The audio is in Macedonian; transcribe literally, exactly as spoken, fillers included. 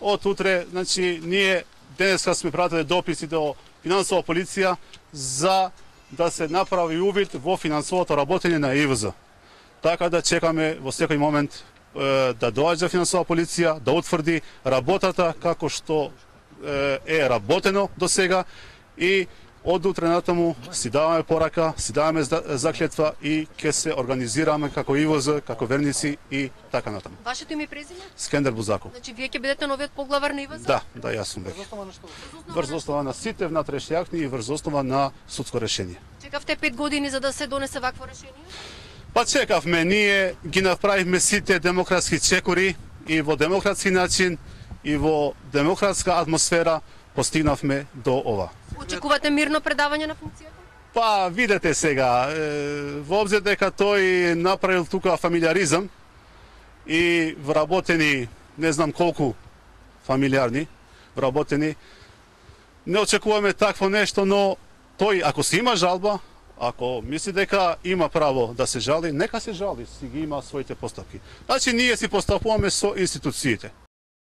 Од утре, значи, ние денеска сме пратили дописи до финансова полиција за да се направи увид во финансовото работење на И В З. Така да чекаме во секој момент е, да доаѓа финансова полиција, да утврди работата како што е, е работено до сега и од утре натаму си даваме порака, си даваме заклетва и ќе се организираме како И В З, како верници и така натаму. Вашето име и презиме? Скендер Бузаков. Значи вие ќе бидете новиот поглавар на И В З? Да, да, јас сум веќе. Врз основа на сите внатрешни акти и врз основа на судско решение. Чекавте пет години за да се донесе вакво решение? Па чекавме, ние ги направивме сите демократски чекори и во демократски начин и во демократска атмосфера постигнавме до ова. Очекувате мирно предавање на функцијата? Па, видете сега, е, во обзир дека тој направил тука фамилиаризам и вработени, не знам колку фамилиарни, вработени, не очекуваме такво нешто, но тој, ако си има жалба, ако мисли дека има право да се жали, нека се жали, си ги има своите постапки. Значи, ние си постапуваме со институциите.